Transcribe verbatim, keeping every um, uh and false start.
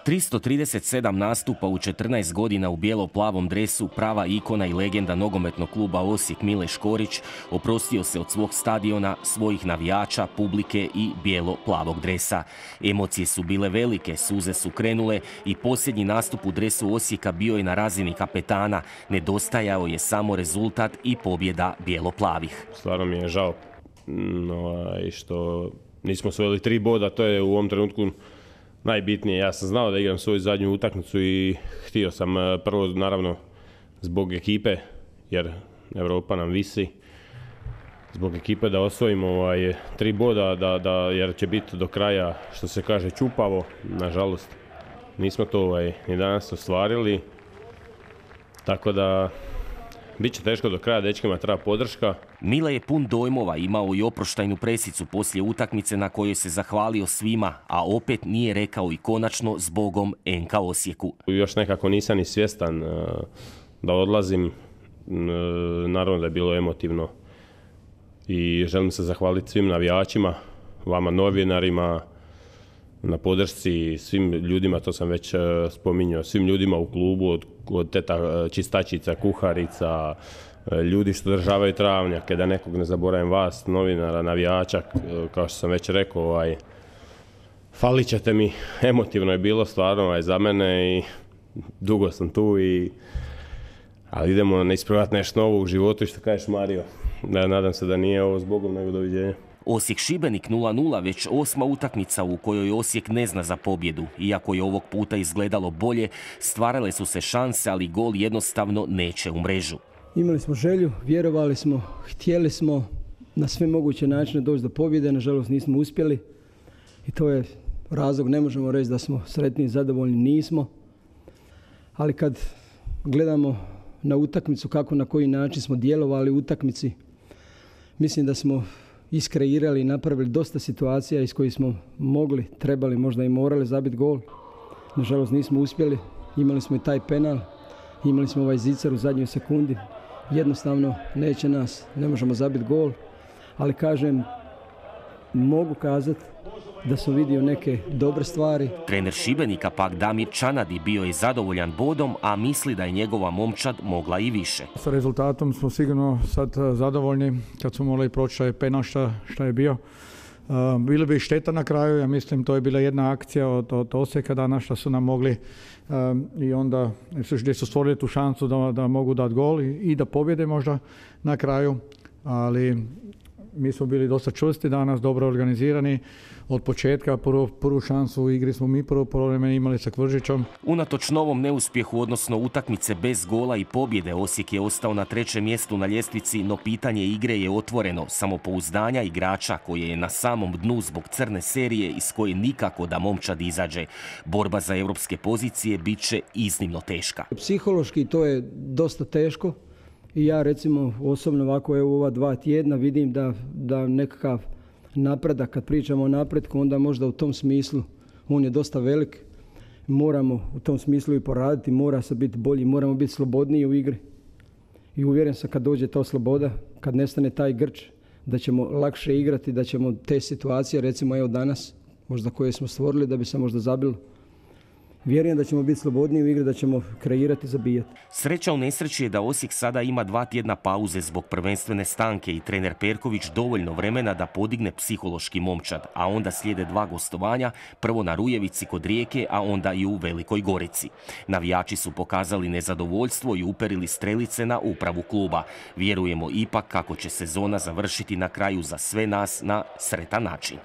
tristo trideset sedam nastupa u četrnaest godina u bijelo-plavom dresu, prava ikona i legenda nogometnog kluba Osijek Mile Škorić oprostio se od svog stadiona, svojih navijača, publike i bijelo-plavog dresa. Emocije su bile velike, suze su krenule i posljednji nastup u dresu Osijeka bio je na razini kapetana. Nedostajao je samo rezultat i pobjeda bijelo-plavih. Stvarno mi je žao no, što nismo osvojili tri boda, to je u ovom trenutku najbitnije. Ja sam znao da igram svoju zadnju utakmicu i htio sam prvo naravno zbog ekipe, jer Europa nam visi, zbog ekipe da osvojimo ovaj, tri boda, da, da, jer će biti do kraja, što se kaže, čupavo. Nažalost, nismo to ovaj, ni danas ostvarili, tako da bit će teško do kraja, dečkima treba podrška. Mile je pun dojmova, imao i oproštajnu presicu poslije utakmice na kojoj se zahvalio svima, a opet nije rekao i konačno zbogom en ka Osijeku. Još nekako nisam ni svjestan da odlazim, naravno da je bilo emotivno i želim se zahvaliti svim navijačima, vama novinarima, na podršci, svim ljudima, to sam već spominjao, svim ljudima u klubu, od, od teta čistačica, kuharica, ljudi što državaju travnjake, da nekog ne zaboravim vas, novinara, navijača, kao što sam već rekao, ovaj, falit ćete mi, emotivno je bilo stvarno ovaj, za mene i dugo sam tu, i, ali idemo ne ispravljati nešto novo u životu i što kažeš Mario, da, nadam se da nije ovo zbogom, nego doviđenja. Osijek Šibenik nula nula, već osma utakmica u kojoj Osijek ne zna za pobjedu. Iako je ovog puta izgledalo bolje, stvarale su se šanse, ali gol jednostavno neće u mrežu. Imali smo želju, vjerovali smo, htjeli smo na sve moguće načine doći do pobjede, nažalost nismo uspjeli. I to je razlog, ne možemo reći da smo sretni i zadovoljni, nismo. Ali kad gledamo na utakmicu, kako na koji način smo djelovali u utakmici, mislim da smo iskreirali i napravili dosta situacija iz kojih smo mogli, trebali, možda i morali zabiti gol. Nažalost nismo uspjeli, imali smo i taj penal, imali smo ovaj zicar u zadnjoj sekundi. Jednostavno neće nas, ne možemo zabiti gol, ali kažem, mogu kazati da sam vidio neke dobre stvari. Trener Šibenika pak Damir Čanadi bio je zadovoljan bodom, a misli da je njegova momčad mogla i više. Sa rezultatom smo sigurno sad zadovoljni kad smo morali proći taj penal šta, šta je bio. Uh, bilo bi šteta na kraju, ja mislim to je bila jedna akcija od, od Osijeka danas što su nam mogli um, i onda gdje su stvorili tu šansu da, da mogu dati gol i, i da pobjede možda na kraju, ali mi smo bili dosta čvrsti danas, dobro organizirani. Od početka prvu, prvu šansu u igri smo mi prvo polovreme imali sa Kvržićom. Unatoč novom neuspjehu, odnosno utakmice bez gola i pobjede, Osijek je ostao na trećem mjestu na ljestvici, no pitanje igre je otvoreno. Samopouzdanja igrača koje je na samom dnu zbog crne serije iz koje nikako da momčad izađe. Borba za europske pozicije bit će iznimno teška. Psihološki to je dosta teško i ja recimo osobno ovako evo ova dva tjedna vidim da, da nekakav napredak, kad pričamo o napretku, onda možda u tom smislu on je dosta velik. Moramo u tom smislu i poraditi, mora se biti bolji, moramo biti slobodniji u igri. I uvjeren sam kad dođe ta sloboda, kad nestane taj grč, da ćemo lakše igrati, da ćemo te situacije, recimo evo danas, možda koje smo stvorili, da bi se možda zabilo. Vjerujem da ćemo biti slobodniji u igri, da ćemo kreirati i zabijati. Sreća u nesreći je da Osijek sada ima dva tjedna pauze zbog prvenstvene stanke i trener Perković dovoljno vremena da podigne psihološki momčad, a onda slijede dva gostovanja, prvo na Rujevici kod Rijeke, a onda i u Velikoj Gorici. Navijači su pokazali nezadovoljstvo i uperili strelice na upravu kluba. Vjerujemo ipak kako će sezona završiti na kraju za sve nas na sretan način.